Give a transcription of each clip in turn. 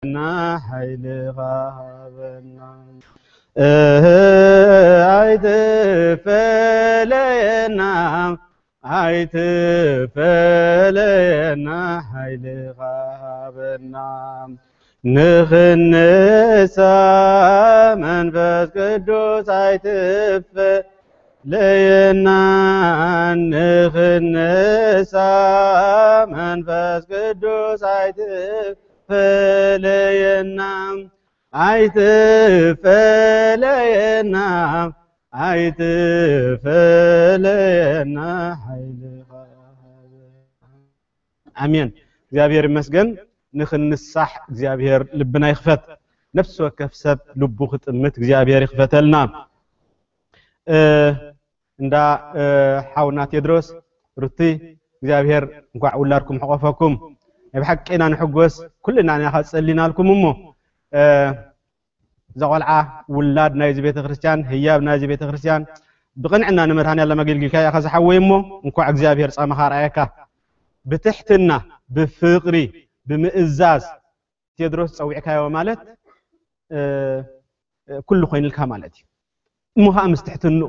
ኣይትፈለየና ሓይልኻ ሃበና። እህ ኣይትፈለየና፣ ኣይትፈለየና ሓይልኻ ሃበና። ንኽንሳ መንፈስ ቅዱስ ኣይትፈለየና፣ ንኽንሳ መንፈስ ቅዱስ ኣይትፈለየና፣ ኣይትፈለየና፣ ኣይትፈለየና ሓይልኻ። ኣሜን። እግዚኣብሔር ይመስገን። ንኽንሳሕ እግዚኣብሔር ልብና ይኽፈት። ነፍሲ ወከፍ ሰብ ልቡ ክጥምት እግዚኣብሔር ይኽፈተልና። እ፣ እንዳ፣ እ፣ ሓውና ቴድሮስ ሩቲ እግዚኣብሔር እንኳዕ ውላድኩም ሕቆፈኩም። ናይ ብሓቂ ኢና ንሕጎስ፣ ኩልና ኢና ጸሊናልኩም እሞ፣ እ፣ እዛ ቆልዓ ውላድ ናይዚ ቤተክርስትያን፣ ህያብ ናይዚ ቤተክርስትያን ብቕንዕና ንመድኃኔዓለም ኣገልጊልካያ ኢኻ ዝሓወይ እሞ፣ እንኳዕ እግዚኣብሔር ጻማኻ ኣርኣየካ። ብትሕትና፣ ብፍቕሪ፣ ብምእዛዝ ቴድሮስ ጸዊዕካዮ ማለት፣ እ፣ እ፣ ኩሉ ኮይንልካ ማለት እዩ። እሞ ኸዓ ምስ ትሕትንኡ፣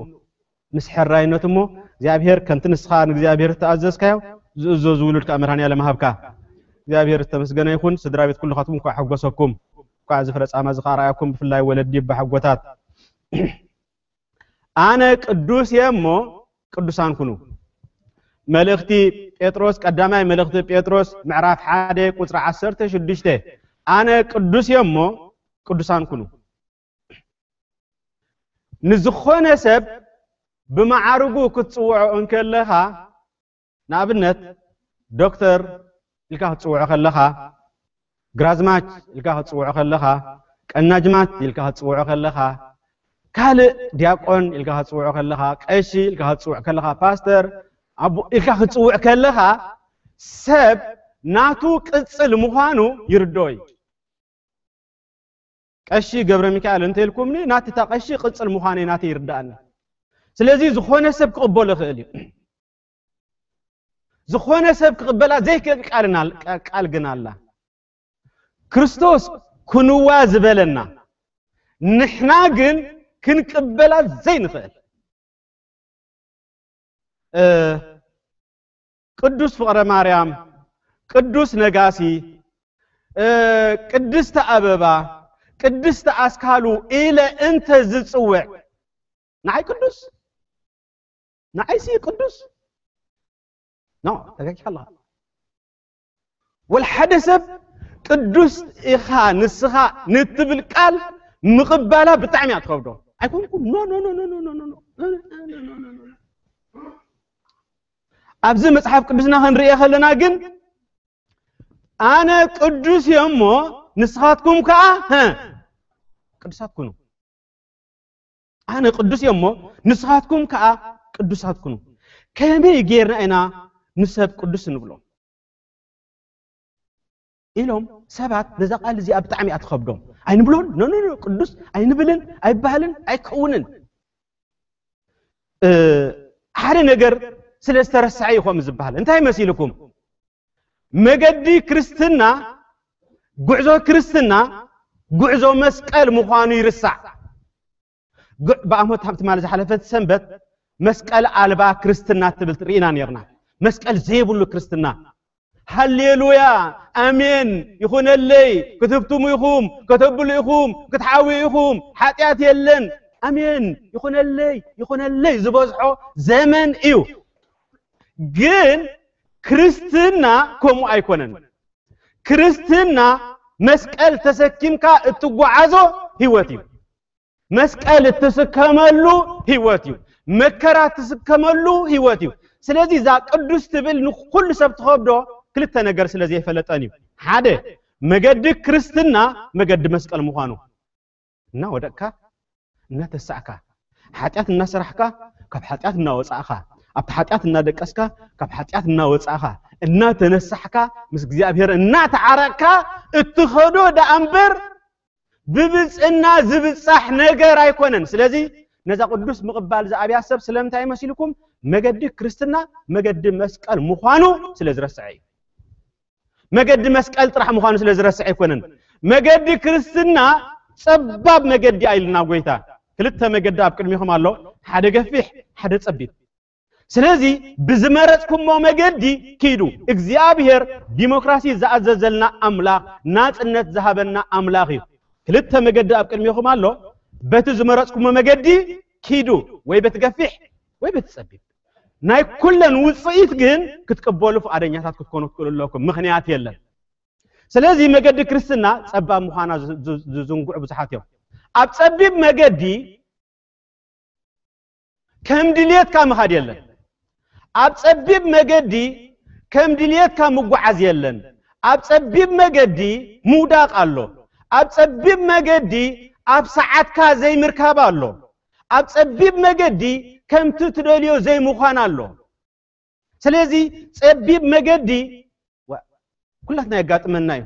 ምስ ሕራይነቱ እሞ እግዚኣብሔር ከምቲ ንስኻ ንእግዚኣብሔር እተኣዘዝካዮ ዝእዘዙ ውሉድ ከኣ መድኃኔዓለም ሃብካ። እግዚኣብሔር ዝተመስገነ ይኹን። ስድራ ቤት ኩልኻትኩም እንኳዕ ሓጎሰኩም። እንኳዕ እዚ ፍረ ጻማ እዚ ከኣ ረኣየኩም፣ ብፍላይ ወለዲ ኣቦሓጎታት። ኣነ ቅዱስ እየ እሞ ቅዱሳን ኩኑ። መልእኽቲ ጴጥሮስ፣ ቀዳማይ መልእኽቲ ጴጥሮስ ምዕራፍ ሓደ ቁጽሪ ዓሰርተ ሽዱሽተ፣ ኣነ ቅዱስ እየ እሞ ቅዱሳን ኩኑ። ንዝኾነ ሰብ ብመዓርጉ ክትጽውዖ እንከለኻ፣ ንኣብነት ዶክተር ኢልካ ክትጽውዖ ከለኻ፣ ግራዝማች ኢልካ ክትጽውዖ ከለኻ፣ ቀናጅማት ኢልካ ክትጽውዖ ከለኻ፣ ካልእ ዲያቆን ኢልካ ክትጽውዖ ከለኻ፣ ቀሺ ኢልካ ክትጽውዕ ከለኻ፣ ፓስተር ኣቦ ኢልካ ክትጽውዕ ከለኻ፣ ሰብ ናቱ ቅጽል ምዃኑ ይርድኦ እዩ። ቀሺ ገብረ ሚካኤል እንተ ኢልኩምኒ፣ ናቲ እታ ቀሺ ቅጽል ምዃነይ ናተይ ይርድኣኒ። ስለዚ ዝኾነ ሰብ ክቕበሎ ይኽእል እዩ። ዝኾነ ሰብ ክቕበላ ዘይክእል ቃል እና-፣ ቃል ግን ኣላ። ክርስቶስ ክንዋ ዝበለና፣ ንሕና ግን ክንቅበላ ዘይንኽእል። እ፣ ቅዱስ ፍቕረ ማርያም፣ ቅዱስ ነጋሲ፣ እ፣ ቅድስቲ ኣበባ፣ ቅድስቲ ኣስካሉ ኢለ እንተ ዝጽውዕ፣ ንዓይ ቅዱስ? ንዓይሲ ቅዱስ? ኖ፣ ተጋጊኻ ኣለኻ። ወላ ሓደ ሰብ ቅዱስ ኢኻ ንስኻ ንትብል ቃል ምቕባላ ብጣዕሚ እያ ትኸብዶ። ኣይኮንኩን? ኖ፣ ኖ፣ ኖ። ኣብዚ መጽሓፍ ቅዱስና ክንርእዮ ከለና ግን፣ ኣነ ቅዱስ እየ እሞ ንስኻትኩም ከኣ፣ ሀ፣ ቅዱሳት ኩኑ። ኣነ ቅዱስ እየ እሞ ንስኻትኩም ከኣ ቅዱሳት ኩኑ። ከመይ ጌርና ኢና ንሰብ ቅዱስ እንብሎ? ኢሎም ሰባት ነዛ ቃል እዚኣ ብጣዕሚ እያ ትኸብዶም። ኣይንብሎን፣ ኖ፣ ኖ፣ ኖ፣ ቅዱስ ኣይንብልን፣ ኣይበሃልን፣ ኣይከውንን። እ፣ ሓደ ነገር ስለ ዝተረስዐ እዩ ከምኡ ዝበሃል። እንታይ መሲልኩም? መገዲ ክርስትና፣ ጉዕዞ ክርስትና፣ ጉዕዞ መስቀል ምዃኑ ይርሳዕ። ግ-፣ ብኣሞት ሃብቲ ማለት ዝሓለፈት ሰንበት መስቀል ኣልባ ክርስትና ትብል ርኢና ነርና። መስቀል ዘይብሉ ክርስትና። ሃሌሉያ፣ ኣሜን፣ ይኹነለይ፣ ክትህብትሙ ኢኹም፣ ከተብሉ ኢኹም፣ ክትሓውዩ ኢኹም፣ ሓጢኣት የለን፣ ኣሜን፣ ይኹነለይ፣ ይኹነለይ ዝበዝሖ ዘመን እዩ። ግን ክርስትና ከምኡ ኣይኮነን። ክርስትና መስቀል ተሰኪምካ እትጓዓዞ ህይወት እዩ። መስቀል እትስከመሉ ህይወት እዩ። መከራ እትስከመሉ ህይወት እዩ። ስለዚ እዛ ቅዱስ ትብል ንኹሉ ሰብ ትኸብዶ ክልተ ነገር ስለ ዘይፈለጠን እዩ። ሓደ፣ መገዲ ክርስትና መገዲ መስቀል ምዃኑ። እናወደቅካ፣ እናተሳእካ፣ ሓጢኣት እናሰራሕካ፣ ካብ ሓጢኣት እናወጻእኻ፣ ኣብቲ ሓጢኣት እናደቀስካ፣ ካብ ሓጢኣት እናወጻእኻ፣ እናተነሳሕካ፣ ምስ እግዚኣብሔር እናተዓረቅካ እትኸዶ ደኣ እምበር፣ ብብጽና ዝብጻሕ ነገር ኣይኮነን። ስለዚ ነዛ ቅዱስ ምቕባል ዝኣብያ ሰብ ስለምንታይ መሲልኩም? መገዲ ክርስትና መገዲ መስቀል ምዃኑ ስለ ዝረስዐ እዩ። መገዲ መስቀል ጥራሕ ምዃኑ ስለ ዝረስዐ ኣይኮነን። መገዲ ክርስትና ጸባብ መገዲ ኣይልና ጎይታ። ክልተ መገዲ ኣብ ቅድሚኹም ኣሎ፣ ሓደ ገፊሕ፣ ሓደ ጸቢብ። ስለዚ ብዝመረጽኩሞ መገዲ ኪዱ። እግዚኣብሔር ዲሞክራሲ ዝኣዘዘልና ኣምላኽ፣ ናጽነት ዝሃበና ኣምላኽ እዩ። ክልተ መገዲ ኣብ ቅድሚኹም ኣሎ፣ በቲ ዝመረጽኩሞ መገዲ ኪዱ፣ ወይ በቲ ገፊሕ ወይ በቲ ጸቢብ። ናይ ኩለን ውጽኢት ግን ክትቅበሉ ፍቓደኛታት ክትኮኑ ትክእሉ ኣለኩም፣ ምኽንያት የለን። ስለዚ መገዲ ክርስትና ጸባብ ምዃና ዝ- ዝ- ዝዝንግዑ ብዙሓት እዮም። ኣብ ጸቢብ መገዲ ከም ድልየትካ ምኻድ የለን። ኣብ ጸቢብ መገዲ ከም ድልየትካ ምጓዓዝ የለን። ኣብ ጸቢብ መገዲ ምውዳቕ ኣሎ። ኣብ ጸቢብ መገዲ ኣብ ሰዓትካ ዘይምርካብ ኣሎ። ኣብ ጸቢብ መገዲ ከምቲ ትደልዮ ዘይምዃን ኣሎ። ስለዚ ጸቢብ መገዲ ኩላትና የጋጥመና እዩ።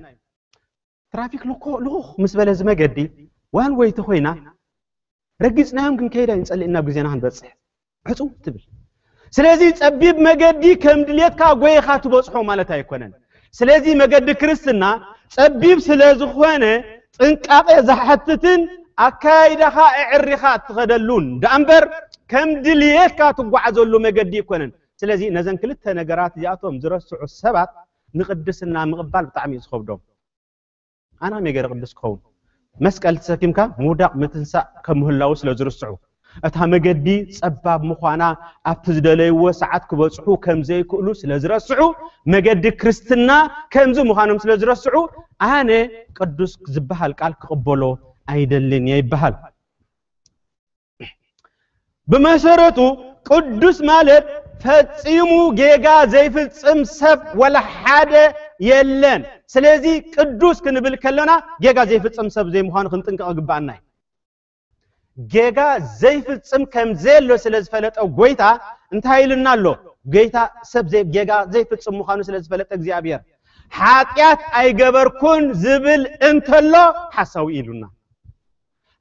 ትራፊክ ልኮ ልኹኽ ምስ በለ እዚ መገዲ ዋን ወይ ተኾይና ረጊጽናዮም ክንከይድ ኣይንጸልእ ናብ ግዜና ክንበጽሕ ዕጹ ትብል። ስለዚ ጸቢብ መገዲ ከም ድሌትካ ጎይኻ ትበጽሖ ማለት ኣይኮነን። ስለዚ መገዲ ክርስትና ጸቢብ ስለ ዝኾነ ጥንቃቄ ዝሓትትን ኣካይዳኻ እዕሪኻ እትኸደሉን ደኣ እምበር ከም ድልየትካ ትጓዓዘሉ መገዲ ኣይኮነን። ስለዚ ነዘን ክልተ ነገራት እዚኣቶም ዝረስዑ ሰባት ንቅድስና ምቕባል ብጣዕሚ እዩ ዝኸብዶም። ኣነ ከመይ ገይረ ቅዱስ ክኸውን? መስቀል ተሰኪምካ ምውዳቕ ምትንሳእ ከም ምህላዉ ስለ ዝርስዑ፣ እታ መገዲ ጸባብ ምዃና፣ ኣብቲ ዝደለይዎ ሰዓት ክበጽሑ ከም ዘይክእሉ ስለ ዝረስዑ፣ መገዲ ክርስትና ከምዚ ምዃኖም ስለ ዝረስዑ፣ ኣነ ቅዱስ ዝበሃል ቃል ክቕበሎ ኣይደልን እየ ይበሃል። ብመሰረቱ ቅዱስ ማለት ፈጺሙ ጌጋ ዘይፍጽም ሰብ ወላ ሓደ የለን። ስለዚ ቅዱስ ክንብል ከለና ጌጋ ዘይፍጽም ሰብ ዘይምዃኑ ክንጥንቀቕ ይግባኣና እዩ። ጌጋ ዘይፍጽም ከም ዘየሎ ስለ ዝፈለጠ ጎይታ እንታይ ኢልና ኣሎ? ጎይታ ሰብ ዘይ- ጌጋ ዘይፍጽም ምዃኑ ስለ ዝፈለጠ እግዚኣብሔር ሓጢኣት ኣይገበርኩን ዝብል እንተሎ ሓሳዊ ኢሉና።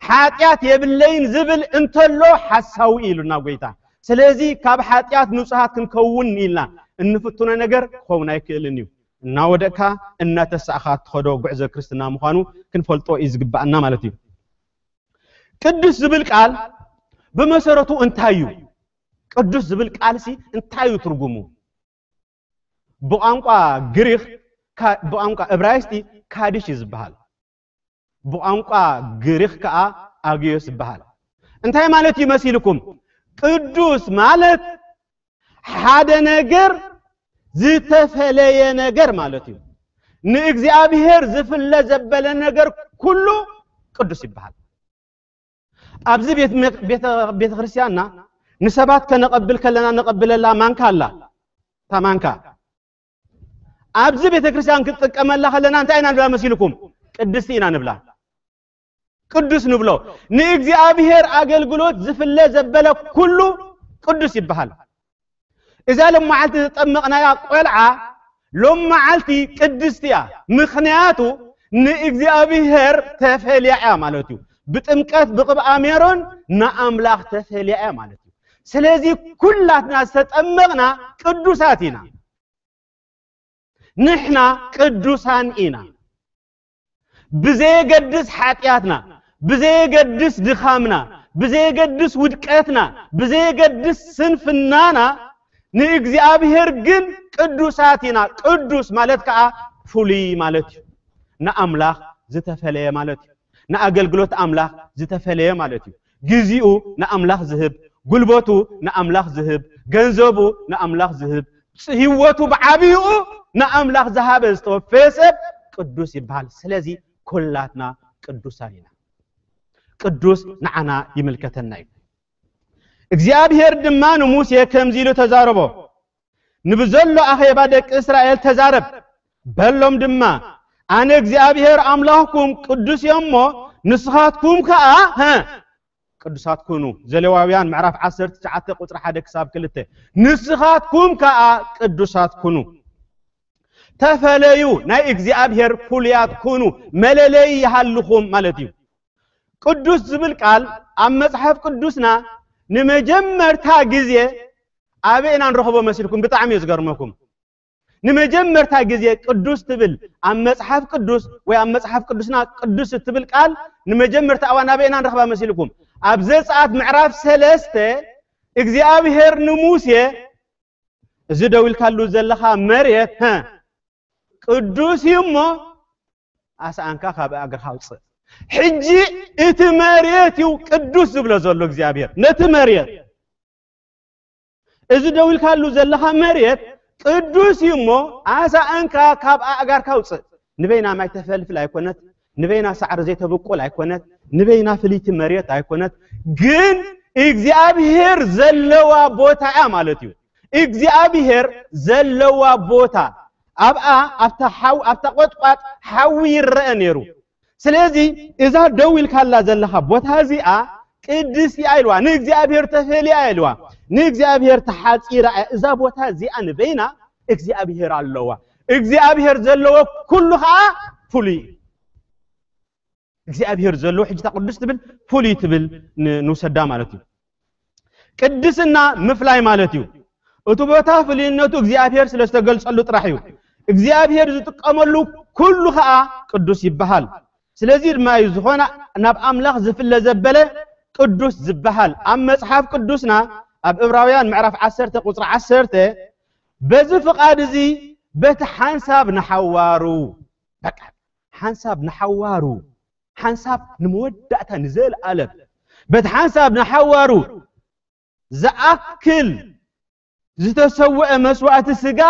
ሓጢኣት የብለይን ዝብል እንተሎ ሓሳዊ ኢሉና ጎይታ። ስለዚ ካብ ሓጢኣት ንጹሃት ክንከውን ኢልና እንፍትኖ ነገር ክኸውን ኣይክእልን እዩ። እናወደቅካ እናተሳእኻ እትኸዶ ጉዕዞ ክርስትና ምዃኑ ክንፈልጦ እዩ ዝግባኣና ማለት እዩ። ቅዱስ ዝብል ቃል ብመሰረቱ እንታይ እዩ? ቅዱስ ዝብል ቃልሲ እንታይ እዩ ትርጉሙ? ብቋንቋ ግሪኽ ካ- ብቋንቋ እብራይስጢ ካዲሽ እዩ ዝበሃል። ብቋንቋ ግሪኽ ከዓ ኣጊዮስ ዝበሃል። እንታይ ማለት እዩ መሲልኩም? ቅዱስ ማለት ሓደ ነገር ዝተፈለየ ነገር ማለት እዩ። ንእግዚኣብሔር ዝፍለ ዘበለ ነገር ኩሉ ቅዱስ ይበሃል። ኣብዚ ቤት መ- ቤተ ቤተ ክርስቲያንና ንሰባት ከነቐብል ከለና ነቐብለላ ማንካ ኣላ። እታ ማንካ ኣብዚ ቤተ ክርስቲያን ክትጥቀመላ ከለና እንታይ ኢና ንብላ መሲልኩም? ቅድስቲ ኢና ንብላ። ቅዱስ ንብሎ። ንእግዚኣብሔር ኣገልግሎት ዝፍለ ዘበለ ኩሉ ቅዱስ ይበሃል። እዛ ሎም መዓልቲ ዝጠመቕናያ ቆልዓ ሎም መዓልቲ ቅድስቲ እያ። ምኽንያቱ ንእግዚኣብሔር ተፈልያ እያ ማለት እዩ። ብጥምቀት ብቕብኣ ሜሮን ንኣምላኽ ተፈልያ እያ ማለት እዩ። ስለዚ ኩላትና ዝተጠመቕና ቅዱሳት ኢና። ንሕና ቅዱሳን ኢና። ብዘየገድስ ሓጢኣትና፣ ብዘየገድስ ድኻምና፣ ብዘየገድስ ውድቀትና፣ ብዘየገድስ ስንፍናና ንእግዚኣብሔር ግን ቅዱሳት ኢና። ቅዱስ ማለት ከዓ ፍሉይ ማለት እዩ። ንኣምላኽ ዝተፈለየ ማለት እዩ። ንኣገልግሎት ኣምላኽ ዝተፈለየ ማለት እዩ። ግዜኡ ንኣምላኽ ዝህብ፣ ጉልበቱ ንኣምላኽ ዝህብ፣ ገንዘቡ ንኣምላኽ ዝህብ፣ ህይወቱ ብዓብይኡ ንኣምላኽ ዝሃበ ዝተወፈየ ሰብ ቅዱስ ይበሃል። ስለዚ ኩላትና ቅዱሳን ኢና። ቅዱስ ንዓና ይምልከተና እዩ። እግዚኣብሔር ድማ ንሙሴ ከምዚ ኢሉ ተዛረቦ፣ ንብዘሎ ኣኼባ ደቂ እስራኤል ተዛረብ፣ በሎም ድማ፣ ኣነ እግዚኣብሔር ኣምላኽኩም ቅዱስ እየ እሞ፣ ንስኻትኩም ከኣ፣ ሀ፣ ቅዱሳት ኩኑ። ዘሌዋውያን ምዕራፍ ዓሰርተ ትሽዓተ ቁጽሪ ሓደ ክሳብ ክልተ። ንስኻትኩም ከኣ ቅዱሳት ኩኑ። ተፈለዩ፣ ናይ እግዚኣብሔር ፍሉያት ኩኑ፣ መለለዪ ይሃልኹም ማለት እዩ። ቅዱስ ዝብል ቃል ኣብ መጽሓፍ ቅዱስና ንመጀመርታ ግዜ ኣበይ ኢና ንረኽቦ መሲልኩም? ብጣዕሚ እዩ ዝገርመኩም። ንመጀመርታ ግዜ ቅዱስ ትብል ኣብ መጽሓፍ ቅዱስ ወይ ኣብ መጽሓፍ ቅዱስና ቅዱስ እትብል ቃል ንመጀመርታ እዋን ኣበይና ንረኽባ መሲልኩም? ኣብ ዘጸኣት ምዕራፍ ሰለስተ እግዚኣብሔር ንሙሴ፣ "እዚ ደው ኢልካሉ ዘለኻ መሬት፣ ሀ፣ ቅዱስ እዩ እሞ ኣስኣንካ ካብ እግርኻ ኣውጽእ።" ሕጂ እቲ መሬት እዩ ቅዱስ ዝብሎ ዘሎ እግዚኣብሔር ነቲ መሬት። "እዚ ደው ኢልካሉ ዘለኻ መሬት ቅዱስ እዩ እሞ ኣስኣንካ ካብ ኣእጋርካ ኣውጽእ።" ንበይና ማይ ተፈልፍል ኣይኮነት፣ ንበይና ሳዕሪ ዘይተብቁል ኣይኮነት፣ ንበይና ፍልይቲ መሬት ኣይኮነት። ግን እግዚኣብሔር ዘለዋ ቦታ እያ ማለት እዩ። እግዚኣብሔር ዘለዋ ቦታ ኣብኣ፣ ኣብታ ሓው-፣ ኣብታ ቆጥቋጥ ሓዊ ይረአ ነይሩ። ስለዚ እዛ ደው ኢልካላ ዘለኻ ቦታ እዚኣ ቅድስቲ እያ ኢልዋ፣ ንእግዚኣብሔር ተፈልያ እያ ኢልዋ፣ ንእግዚኣብሔር ተሓጺራ እያ። እዛ ቦታ እዚኣ ንበይና እግዚኣብሔር ኣለዋ። እግዚኣብሔር ዘለዎ ኩሉ ኸዓ ፍሉይ እዩ። እግዚኣብሔር ዘለዎ ሕጂ እታ ቅዱስ ትብል ፍሉይ ትብል ን-፣ ንውሰዳ ማለት እዩ። ቅድስና ምፍላይ ማለት እዩ። እቲ ቦታ ፍሉይነቱ እግዚኣብሔር ስለ ዝተገልጸሉ ጥራሕ እዩ። እግዚኣብሔር ዝጥቀመሉ ኩሉ ኸዓ ቅዱስ ይበሃል። ስለዚ ድማ እዩ ዝኾነ ናብ ኣምላኽ ዝፍለ ዘበለ ቅዱስ ዝበሃል። ኣብ መጽሓፍ ቅዱስና ኣብ ዕብራውያን ምዕራፍ ዓሰርተ ቁጽሪ ዓሰርተ፣ "በዚ ፍቓድ እዚ በቲ ሓንሳብ ንሓዋሩ"፣ በቃ ሓንሳብ ንሓዋሩ፣ ሓንሳብ ንመወዳእታ ንዘለኣለም፣ "በቲ ሓንሳብ ንሓዋሩ ዝኣክል ዝተሰውአ መስዋእቲ ስጋ፣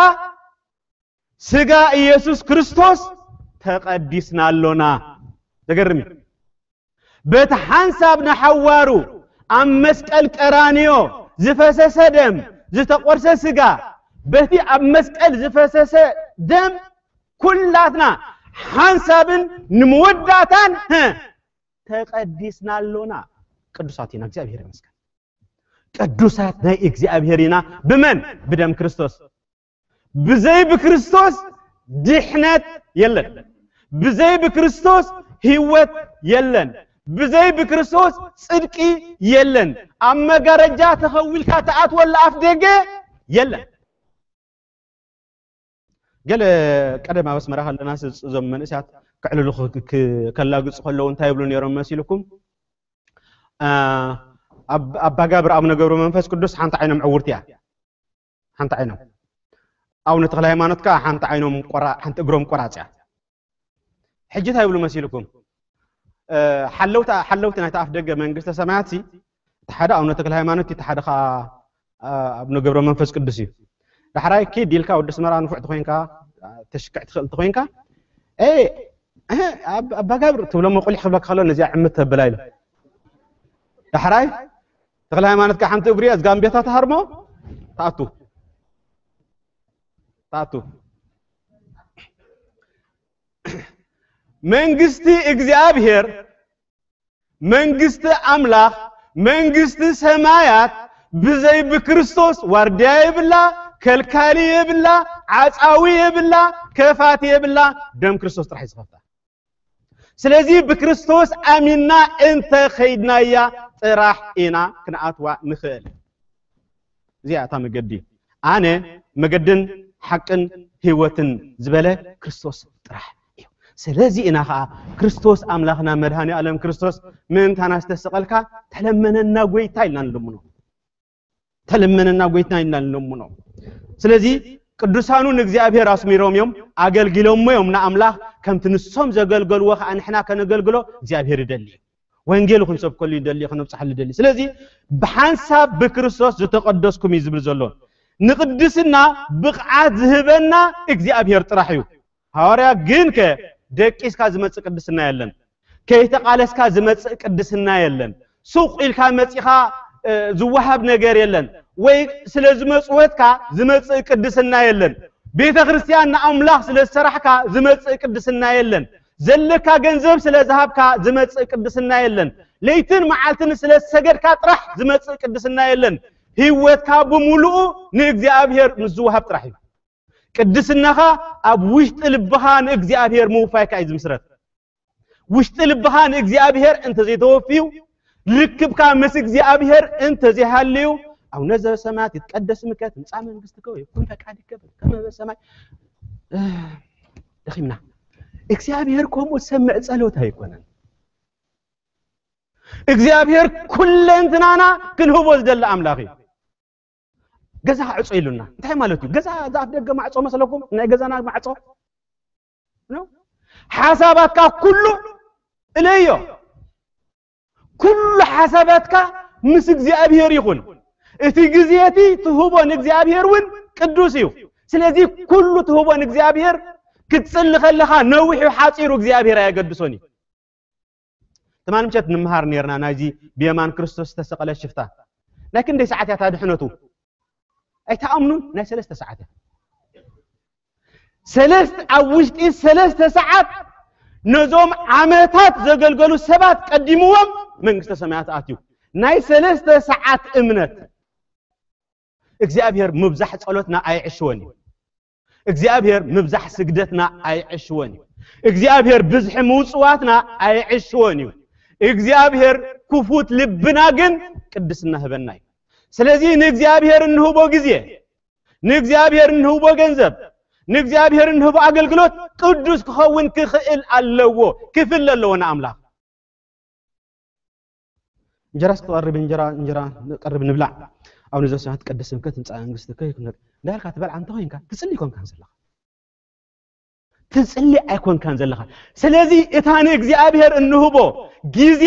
ስጋ ኢየሱስ ክርስቶስ ተቐዲስና ኣሎና።" ዘገርም እዩ። በቲ ሓንሳብ ንሓዋሩ ኣብ መስቀል ቀራንዮ ዝፈሰሰ ደም፣ ዝተቖርሰ ስጋ፣ በቲ ኣብ መስቀል ዝፈሰሰ ደም ኩላትና ሓንሳብን ንመወዳእታን፣ ሀ፣ ተቐዲስና ኣሎና። ቅዱሳት ኢና፣ እግዚኣብሔር ይመስገን። ቅዱሳት ናይ እግዚኣብሔር ኢና። ብመን? ብደም ክርስቶስ። ብዘይ ብክርስቶስ ድሕነት የለን። ብዘይ ብክርስቶስ ህይወት የለን። ብዘይ ብክርስቶስ ጽድቂ የለን። ኣብ መጋረጃ ተኸዊልካ ትኣትወላ ኣፍ ደገ የለን። ገለ ቀደም ኣብ ኣስመራ ከለናስ እዞም መንእሰያት ክዕልሉ ክ-፣ ክ-፣ ከላግጹ ከለዉ እንታይ ይብሉ ነይሮም መሲልኩም? አ፣ ኣብ-፣ ኣባ ጋብር ኣቡነ ገብረ መንፈስ ቅዱስ ሓንቲ ዓይኖም ዕውርቲ እያ። ሓንቲ ዓይኖም። ኣቡነ ተክለ ሃይማኖት ከኣ ሓንቲ ዓይኖም ቆራ-፣ ሓንቲ እግሮም ቆራጽ እያ። ሕጂ እንታይ ይብሉ መሲልኩም? እ፣ ሓለውታ-፣ ሓለውቲ ናይቲ ኣፍ ደገ መንግስተ ሰማያት ሲ፣ እቲ ሓደ ኣቡነ ተክለ ሃይማኖት፣ እቲ ሓደ ከኣ፣ እ፣ ኣቡነ ገብረ መንፈስ ቅዱስ እዩ። ዳሕራይ ኪድ ኢልካ ወዲ ኣስመራ ንፉዕ ተኾይንካ፣ ተሽክዕ ትኽእል ተኾይንካ፣ "ኤ፣ እህ፣ ኣብ-፣ ኣባ ጋብር" ትብሎሞ፣ ቁሊሕ ክብለካ ከሎ ነዚኣ ዕምት ተብላ ኢሉ። ዳሕራይ ተክለ ሃይማኖት ከኣ ሓንቲ እግሩ እያ፣ እዝጋምቤታ ትሃርሞ፣ ትኣቱ። ትኣቱ። መንግስቲ እግዚኣብሔር፣ መንግስቲ ኣምላኽ፣ መንግስቲ ሰማያት ብዘይ ብክርስቶስ ዋርድያ የብላ፣ ከልካሊ የብላ፣ ዓጻዊ የብላ፣ ከፋቲ የብላ፣ ደም ክርስቶስ ጥራሕ እዩ ዝኸፍታ። ስለዚ ብክርስቶስ ኣሚንና እንተ ኸይድናያ ጥራሕ ኢና ክንኣትዋ ንኽእል። እዚኣ እታ መገዲ። "ኣነ መገድን ሓቅን ህይወትን" ዝበለ ክርስቶስ ጥራሕ እዩ። ስለዚ ኢና ኸዓ ክርስቶስ ኣምላኽና መድኃኔ ዓለም ክርስቶስ ምእንታና ዝተሰቐልካ ተለመነና ጐይታ ኢልና ንልምኖ። ተለመነና ጐይታ ኢልና ንለምኖ። ስለዚ ቅዱሳኑ ንእግዚኣብሔር ኣስሚሮም እዮም፣ ኣገልጊሎሞ እዮም ንኣምላኽ። ከምቲ ንሶም ዘገልገልዎ ኸዓ ንሕና ከነገልግሎ እግዚኣብሔር ይደሊ እዩ። ወንጌሉ ክንሰብከሉ ይደሊ፣ ከነብጽሓሉ ይደሊ። ስለዚ ብሓንሳብ ብክርስቶስ ዝተቐደስኩም እዩ ዝብል ዘሎ። ንቅድስና ብቕዓት ዝህበና እግዚኣብሔር ጥራሕ እዩ። ሃዋርያ ግንከ ደቂስካ ዝመጽእ ቅድስና የለን። ከይተቓለስካ ዝመጽእ ቅድስና የለን። ሱቕ ኢልካ መጺኻ፣ እ፣ ዝወሃብ ነገር የለን። ወይ ስለ ዝመጽወትካ ዝመጽእ ቅድስና የለን። ቤተ ክርስቲያን ንኣምላኽ ስለ ዝሰራሕካ ዝመጽእ ቅድስና የለን። ዘለካ ገንዘብ ስለ ዝሃብካ ዝመጽእ ቅድስና የለን። ለይትን መዓልትን ስለ ዝሰገድካ ጥራሕ ዝመጽእ ቅድስና የለን። ህይወትካ ብምሉኡ ንእግዚኣብሔር ምስ ዝወሃብ ጥራሕ እዩ። ቅድስናኻ ኣብ ውሽጢ ልብኻ ንእግዚኣብሔር ምውፋይካ እዩ ዝምስረት። ውሽጢ ልብኻ ንእግዚኣብሔር እንተዘይተወፍዩ፣ ርክብካ ምስ እግዚኣብሔር እንተዘይሃልዩ፣ "ኣቡነ ዘበሰማያት ይትቀደስ ስምከ ትምጻእ መንግስትከ ወይኩን ፈቃድከ በከመ በሰማይ" ደኺምና። እግዚኣብሔር ከምኡ ዝሰምዕ ጸሎት ኣይኮነን። እግዚኣብሔር ኩለንትናና ክንህቦ ዝደሊ ኣምላኽ እዩ። ገዛ ዕጾ ኢሉና እንታይ ማለት እዩ? ገዛ እዛ ኣፍ ደገ ማዕጾ መስለኩም? ናይ ገዛና ማዕጾ ነው። ሓሳባትካ ኩሉ እለዮ። ኩሉ ሓሳባትካ ምስ እግዚኣብሔር ይኹን። እቲ ግዜ እቲ ትህቦ ንእግዚኣብሔር እውን ቅዱስ እዩ። ስለዚ ኩሉ ትህቦ ንእግዚኣብሔር ክትጽሊ ከለኻ ነዊሑ ሓጺሩ እግዚኣብሔር ኣየገድሶን እዩ። ትማሊ ምሸት ንምሃር ነርና ናይዚ ብየማን ክርስቶስ ዝተሰቐለ ሽፍታ። ናይ ክንደይ ሰዓት እያ እታ ድሕነቱ? ኣይተኣምኑን? ናይ ሰለስተ ሰዓት እያ። ሰለስተ ኣብ ውሽጢ ሰለስተ ሰዓት ነዞም ዓመታት ዘገልገሉ ሰባት ቀዲምዎም መንግስተ ሰማያት ኣትዩ። ናይ ሰለስተ ሰዓት እምነት እግዚኣብሔር ምብዛሕ ጸሎትና ኣይዕሽወን እዩ። እግዚኣብሔር ምብዛሕ ስግደትና ኣይዕሽወን እዩ። እግዚኣብሔር ብዝሒ ምውጽዋትና ኣይዕሽወን እዩ። እግዚኣብሔር ክፉት ልብና ግን ቅድስና ህበና እዩ። ስለዚ ንእግዚኣብሔር እንህቦ ግዜ፣ ንእግዚኣብሔር እንህቦ ገንዘብ፣ ንእግዚኣብሔር እንህቦ ኣገልግሎት ቅዱስ ክኸውን ክኽእል ኣለዎ፣ ክፍለ ኣለዎ ንኣምላኽ። እንጀራስ ክቐርብ፣ እንጀራ እንጀራ ቀርብ ንብላዕ። ኣቡነ ዘበሰማያት ይትቀደስ ስምከ ትምጻእ መንግስትከ ይኩን። እንዳልካ ትበልዓ እንተኾይንካ ትጽሊ ኣይኮንካን ዘለኻ። ትጽሊ ኣይኮንካን ዘለኻ። ስለዚ እታ ንእግዚኣብሔር እንህቦ ግዜ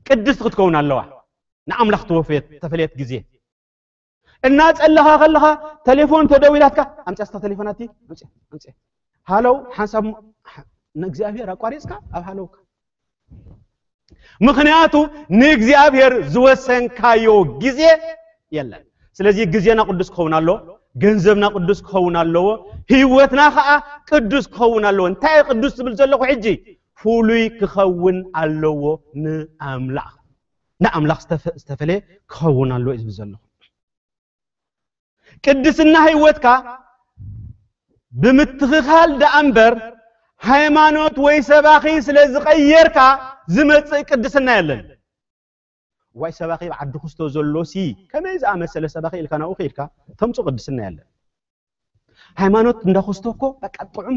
ቅድስቲ ክትከውን ኣለዋ። ንኣምላኽ ተወፈየት፣ ተፈለየት ግዜ። እናጸለኻ ከለኻ ተሌፎን ተደዊላትካ፣ ኣምጽያ እስታ ተሌፎን ኣቲ፣ ኣምጽያ፣ ኣምጽያ። ሃለው፣ ሓንሳብ ም-፣ ንእግዚኣብሔር ኣቋሪጽካ ኣብ ሃለውካ። ምኽንያቱ ንእግዚኣብሔር ዝወሰንካዮ ግዜ የለን። ስለዚ ግዜና ቅዱስ ክኸውን ኣለዎ፣ ገንዘብና ቅዱስ ክኸውን ኣለዎ፣ ህይወትና ኸዓ ቅዱስ ክኸውን ኣለዎ። እንታይ እየ ቅዱስ ዝብል ዘለኹ ሕጂ? ፍሉይ ክኸውን ኣለዎ ንኣምላኽ። ንኣምላኽ ዝተፈ-፣ ዝተፈለየ ክኸውን ኣለዎ እዩ ዝብል ዘለኹ። ቅድስና ህይወትካ ብምትኽኻል ደኣ እምበር፣ ሃይማኖት ወይ ሰባኺ ስለ ዝቐየርካ ዝመጽእ ቅድስና የለን። ዋይ ሰባኺ ኣብ ዓዲ ኩስቶ ዘሎ ሲ፣ ከመይ ዝኣመሰለ ሰባኺ ኢልካ ናብኡ ከይድካ ተምጾ ቅድስና የለን። ሃይማኖት እንዳ ኩስቶ እኮ በቃ ጥዑም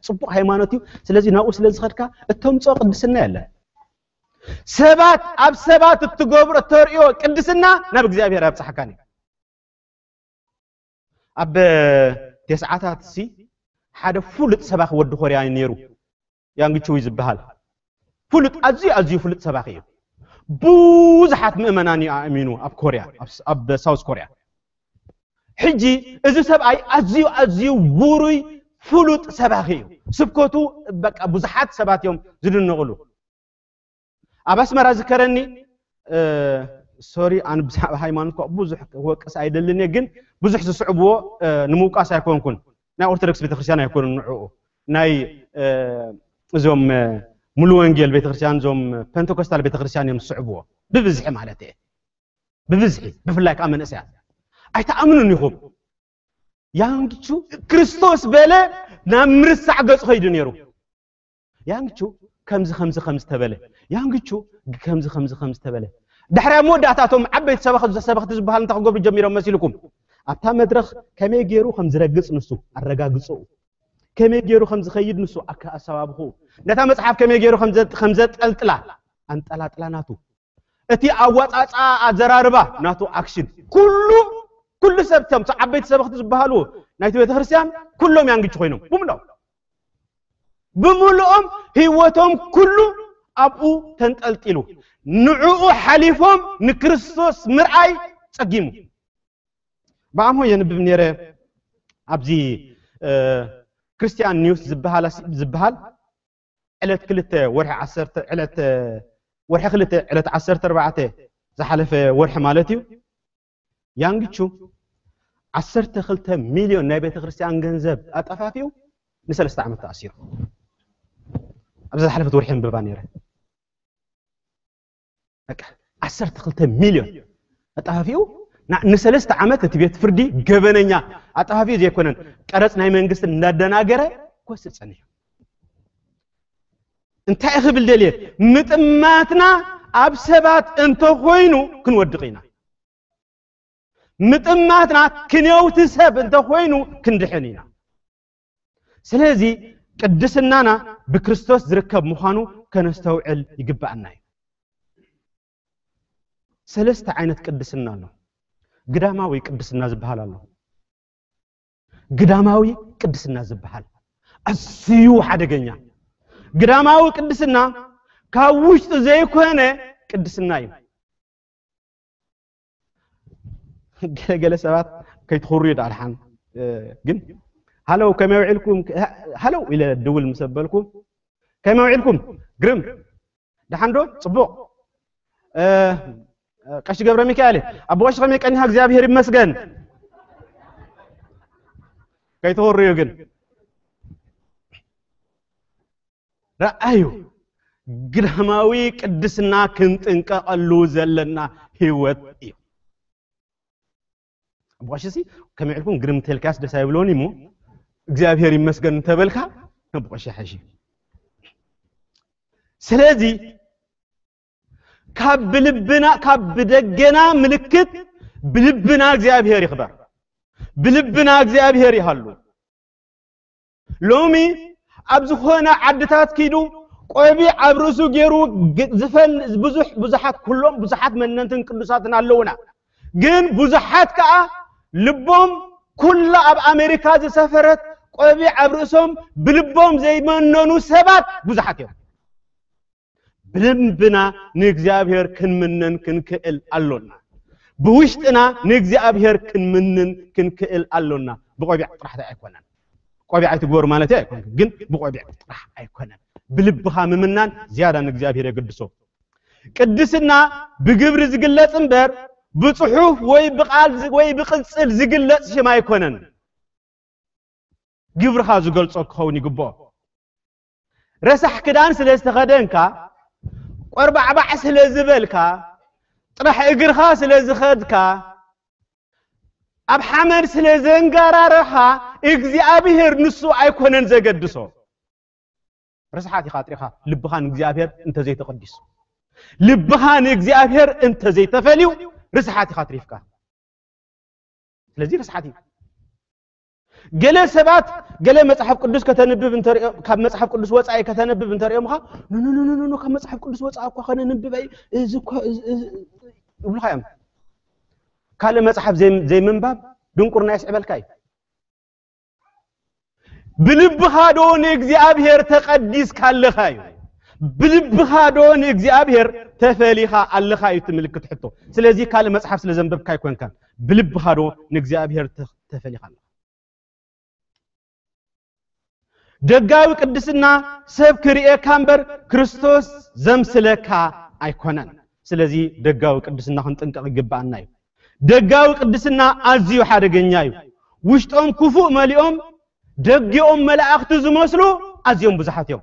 ጽቡቕ ሃይማኖት እዩ። ስለዚ ናብኡ ስለ ዝኸድካ እተምጾ ቅድስና የለን። ሰባት ኣብ ሰባት እትገብሮ እተርእዮ ቅድስና ናብ እግዚኣብሔር ኣየብጽሓካን እዩ። ኣብ ተስዓታት ሲ ሓደ ፍሉጥ ሰባኺ ወዲ ኮርያ እዩ ነይሩ። ያንግ ቹይ ዝበሃል ፍሉጥ፣ ኣዝዩ፣ ኣዝዩ ፍሉጥ ሰባኺ እዩ። ብዙሓት ምእመናን እዩ ኣእሚኑ ኣብ ኮርያ፣ ኣብ ስ-፣ ኣብ ሳውዝ ኮርያ። ሕጂ እዚ ሰብኣይ ኣዝዩ፣ ኣዝዩ ውሩይ ፍሉጥ ሰባኺ እዩ። ስብከቱ በቃ ብዙሓት ሰባት እዮም ዝድነቕሉ። ኣብ ኣስመራ ዝከረኒ፣ እ፣ ሶሪ፣ ኣነ ብዛዕባ ሃይማኖት እኳ ብዙሕ ክወቅስ ኣይደልን እየ፣ ግን ብዙሕ ዝስዕብዎ፣ እ፣ ንምውቃስ ኣይኮንኩን። ናይ ኦርቶዶክስ ቤተክርስትያን ኣይኮኑን ንዕኡ። ናይ፣ እ፣ እዞም፣ እ፣ ሙሉ ወንጌል ቤተክርስትያን፣ እዞም ፔንቴኮስታል ቤተክርስትያን እዮም ዝስዕብዎ። ብብዝሒ ማለት እየ። ብብዝሒ፣ ብፍላይ ከዓ መንእሰያት። ኣይትኣምኑን ኢኹም። ያንግቹ ክርስቶስ በለ ናብ ምርሳዕ ገጹ ከይዱ ነይሩ። ያንግቹ ከምዚ፣ ከምዚ፣ ከምዚ ተበለ። ያንግቹ ከምዚ፣ ከምዚ፣ ከምዚ ተበለ። ድሕሪ ኣብ መወዳእታ እቶም ዓበይቲ ሰበኽ-፣ ሰበኽቲ ዝበሃሉ እንታይ ክገብሩ ጀሚሮም መሲልኩም? ኣብታ መድረኽ ከመይ ገይሩ ከም ዝረግጽ ንሱ ኣረጋግጽኡ። ከመይ ገይሩ ከም ዝኸይድ ንሱ ኣከ-፣ ኣሰባብኽኡ። ነታ መጽሓፍ ከመይ ገይሩ ከም ዘ-፣ ከም ዘጠልጥላ ኣንጠላጥላ ናቱ። እቲ ኣወጻጽኣ ኣዘራርባ ናቱ ኣክሽን። ኩሉ፣ ኩሉ ሰብ እቶም ዓበይቲ ሰበኽቲ ዝበሃሉ ናይቲ ቤተክርስትያን ኩሎም ያንግቹ ኮይኖም። ብምልኦም። ብምልኦም ህይወቶም ኩሉ ኣብኡ ተንጠልጢሉ። ንዕኡ ሓሊፎም ንክርስቶስ ምርኣይ ጸጊሙ። ብኣምሆ የንብብ ነይረ ኣብዚ፣ እ፣ ክርስቲያን ኒውስ ዝበሃል፣ ዝበሃል ዕለት ክልተ ወርሒ ዓሰርተ፣ ዕለት፣ ወርሒ ክልተ ዕለት ዓሰርተ ኣርባዕተ ዝሓለፈ ወርሒ ማለት እዩ። ያንግቹ ዓሰርተ ክልተ ሚልዮን ናይ ቤተክርስትያን ገንዘብ ኣጠፋፊኡ ንሰለስተ ዓመት ተኣሲሩ። ኣብዛ ዝሓለፈት ወርሒ ኣንብባ ነይረ። በቃ ዓሰርተ ክልተ ሚልዮን ኣጠፋፊኡ ና-፣ ንሰለስተ ዓመት እቲ ቤት ፍርዲ ገበነኛ ኣጠፋፊኡ ዘይኮነን፣ ቀረጽ ናይ መንግስቲ እንዳደናገረ ክወስድ ጸኒሑ። እንታይ ክብል ደልየ? ምጥማትና ኣብ ሰባት እንተኾይኑ ክንወድቕ ኢና። ምጥማትና ክንየውቲ ሰብ እንተኾይኑ ክንድሕን ኢና። ስለዚ ቅድስናና ብክርስቶስ ዝርከብ ምዃኑ ከነስተውዕል ይግባኣና እዩ። ሰለስተ ዓይነት ቅድስና ኣሎ። ግዳማዊ ቅድስና ዝበሃል ኣሎ። ግዳማዊ ቅድስና ዝበሃል ኣዝዩ ሓደገኛ። ግዳማዊ ቅድስና ካብ ውሽጢ ዘይኮነ ቅድስና እዩ። ገለገለ ሰባት ከይትኹርዩ ዳልሓን ግን ሃለው ከመይ ውዒልኩም? ሃለው ኢለ ድውል ምስ ኣበልኩም ከመይ ውዒልኩም? ግርም። ደሓን ዶ? ጽቡቕ። ቀሺ ገብረ ሚካኤል፣ ኣቦ ቀሺ ከመይ ቀኒኻ? እግዚኣብሔር ይመስገን። ከይትወርዩ ግን ረኣዩ፣ ግዳማዊ ቅድስና ክንጥንቀቐሉ ዘለና ህይወት እዩ። ኣቦ ቀሺ ሲ ከመይ ኢልኩም ግርም ተልካስ ደስ ኣይብሎን እሞ እግዚኣብሔር ይመስገን እንተበልካ ኣቦ ቀሺ ሓይሽ። ስለዚ ካብ ብልብና ካብ ብደገና ምልክት ብልብና እግዚኣብሔር ይኽበር፣ ብልብና እግዚኣብሔር ይሃሉ። ሎሚ ኣብ ዝኾነ ዓድታት ኪዱ ቆቢዕ ኣብ ርእሱ ገይሩ ግ- ዝፈል ብዙሕ ብዙሓት ኩሎም ብዙሓት መነንትን ቅዱሳትን ኣለውና። ግን ብዙሓት ከኣ ልቦም ኩላ ኣብ ኣሜሪካ ዝሰፈረት ቆቢዕ ኣብ ርእሶም ብልቦም ዘይመነኑ ሰባት ብዙሓት እዮም። ብልብና ንእግዚኣብሔር ክንምነን ክንክእል ኣሎና። ብውሽጥና ንእግዚኣብሔር ክንምንን ክንክእል ኣሎና። ብቆቢዕ ጥራሕ ኣይኮነን። ቆቢዕ ኣይትግበሩ ማለት ኣይኮነን፣ ግን ብቆቢዕ ጥራሕ ኣይኮነን። ብልብኻ ምምናን ዝያዳ ንእግዚኣብሔር የገድሶ። ቅድስና ብግብሪ ዝግለጽ እምበር ብጽሑፍ ወይ ብቃል ዝ- ወይ ብቅጽል ዝግለጽ ሽም ኣይኮነን። ግብርኻ ዝገልጾ ክኸውን ይግብኦ። ረሳሕ ክዳን ስለ ዝተኸደንካ፣ ቆርባዕባዕ ስለ ዝበልካ፣ ጥራሕ እግርኻ ስለ ዝኸድካ፣ ኣብ ሓመድ ስለ ዘንጋራረኻ እግዚኣብሔር ንሱ ኣይኮነን ዘገድሶ። ርስሓት ኢኻ ጥሪኻ ልብኻ ንእግዚኣብሔር እንተዘይተቐዲሱ፣ ልብኻ ንእግዚኣብሔር እንተዘይተፈልዩ ርስሓት ኢኻ ትሪፍካ። ስለዚ ርስሓት እዩ። ገለ ሰባት ገለ መጽሓፍ ቅዱስ ከተንብብ እንተሪኦ ካብ መጽሓፍ ቅዱስ ወጻኢ ከተንብብ እንተሪኦምኻ ኖ ኖ ኖ ኖ ካብ መጽሓፍ ቅዱስ ወጻኢ እኳ ከነንብብ ኣይ እዚ እኳ እዚ- እዚ- ይብሉኻ እዮም። ካልእ መጽሓፍ ዘይ- ዘይምንባብ ድንቁርና የስዕበልካ እዩ። ብልብኻ ዶ ንእግዚኣብሔር ተቐዲስካ ኣለኻ እዩ። ብልብኻ ዶ ንእግዚኣብሔር ተፈሊኻ ኣለኻ እዩ እቲ ምልክት ሕቶ። ስለዚ ካልእ መጽሓፍ ስለ ዘንበብካ ኣይኮንካን። ብልብኻ ዶ ንእግዚኣብሔር ተ- ተፈሊኻ ኣለኻ? ደጋዊ ቅድስና ሰብ ክርእየካ እምበር ክርስቶስ ዘምስለካ ኣይኮነን። ስለዚ ደጋዊ ቅድስና ክንጥንቀቕ ይግባኣና እዩ። ደጋዊ ቅድስና ኣዝዩ ሓደገኛ እዩ። ውሽጦም ክፉእ መሊኦም ደጊኦም መላእኽቲ ዝመስሉ ኣዝዮም ብዙሓት እዮም።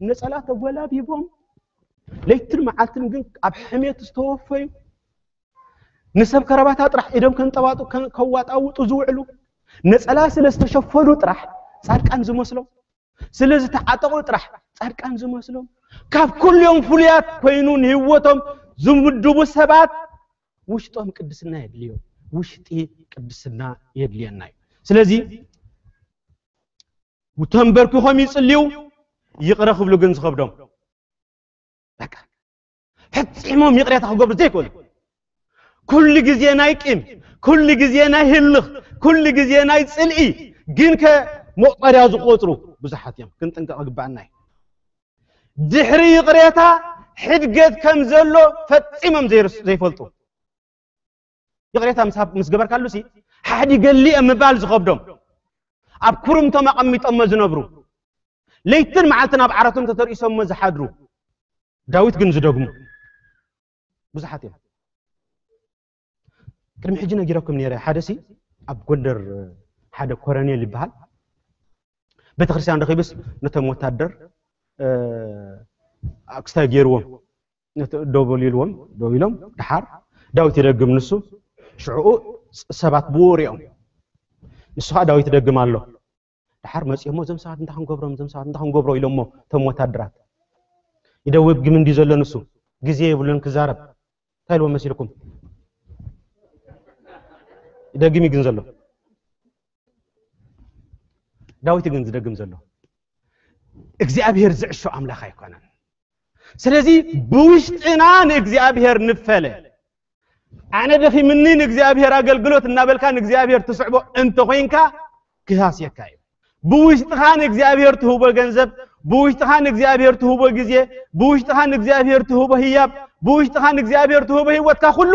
ነጸላ ተጎላቢቦም ለይትን መዓልትን ግን ኣብ ሕሜት ዝተወፈዩ ንሰብ ከረባታ ጥራሕ ኢዶም ከንጠባጡ ከዋጣውጡ ዝውዕሉ ነጸላ ስለ ዝተሸፈኑ ጥራሕ ጻድቃን ዝመስሎም ስለ ዝተዓጠቑ ጥራሕ ጻድቃን ዝመስሎም ካብ ኩልዮም ፍሉያት ኮይኑ ንህይወቶም ዝምድቡ ሰባት ውሽጦም ቅድስና የድልዮም። ውሽጢ ቅድስና የድልየና እዩ። ስለዚ ተንበርኪኾም ይጽልዩ፣ ይቕረ ክብሉ ግን ዝኸብዶም በቃ ፈጺሞም ይቕሬታ ክገብሩ ዘይክእሉ ኩሉ ግዜ ናይ ቂም፣ ኩሉ ግዜ ናይ ህልኽ፣ ኩሉ ግዜ ናይ ጽልኢ ግን ከ መቑጸርያ ዝቆጽሩ ብዙሓት እዮም። ክንጥንቀቕ ግባኣና እዩ። ድሕሪ ይቕሬታ ሕድገት ከም ዘሎ ፈጺሞም ዘይርስ- ዘይፈልጡ ይቕሬታ ምስ ምስ ገበርካሉ ሲ ሓዲገሊ እየ ምባል ዝኸብዶም ኣብ ኩርምቶም ኣቐሚጦሞ ዝነብሩ ለይትን መዓልትን ኣብ ዓራቶም ተተርኢሶሞ ዝሓድሩ ዳዊት ግን ዝደግሙ ብዙሓት እዮም። ቅድሚ ሕጂ ነጊረኩም ነይረ። ሓደ ሲ ኣብ ጎንደር ሓደ ኮረኔል ይበሃል ቤተክርስትያን ረኺብስ ነቶም ወታደር ኣክስታይ ገይርዎም ነቲ ደው በሉ ኢልዎም ደው ኢሎም ደሓር ዳዊት ይደግም ንሱ ሽዑኡ ሰባት ብኡ ሪኦም ንሱ ከዓ ዳዊት ይደግም ኣሎ ደሓር መፂኦሞ እዞም ሰባት እንታይ ክንገብሮም እዞም ሰባት እንታይ ክንገብሮ ኢሎሞ እቶም ወታደራት ይደውብ ግም እንዲ ዘሎ ንሱ ግዜ የብሉን ክዛረብ እንታይ ኢልዎም መሲልኩም ይደግም እዩ ግን ዘሎ ዳዊት ግን ዝደግም ዘሎ እግዚኣብሔር ዝዕሾ ኣምላኽ ኣይኮነን። ስለዚ ብውሽጥና ንእግዚኣብሔር ንፈለ። ኣነ ደኺምኒ ንእግዚኣብሔር ኣገልግሎት እናበልካ ንእግዚኣብሔር ትስዕቦ እንተኾይንካ ክሃስየካ እዩ። ብውሽጥኻ ንእግዚኣብሔር ትህቦ ገንዘብ፣ ብውሽጥኻ ንእግዚኣብሔር ትህቦ ግዜ፣ ብውሽጥኻ ንእግዚኣብሔር ትህቦ ህያብ፣ ብውሽጥኻ ንእግዚኣብሔር ትህቦ ህይወትካ ኩሉ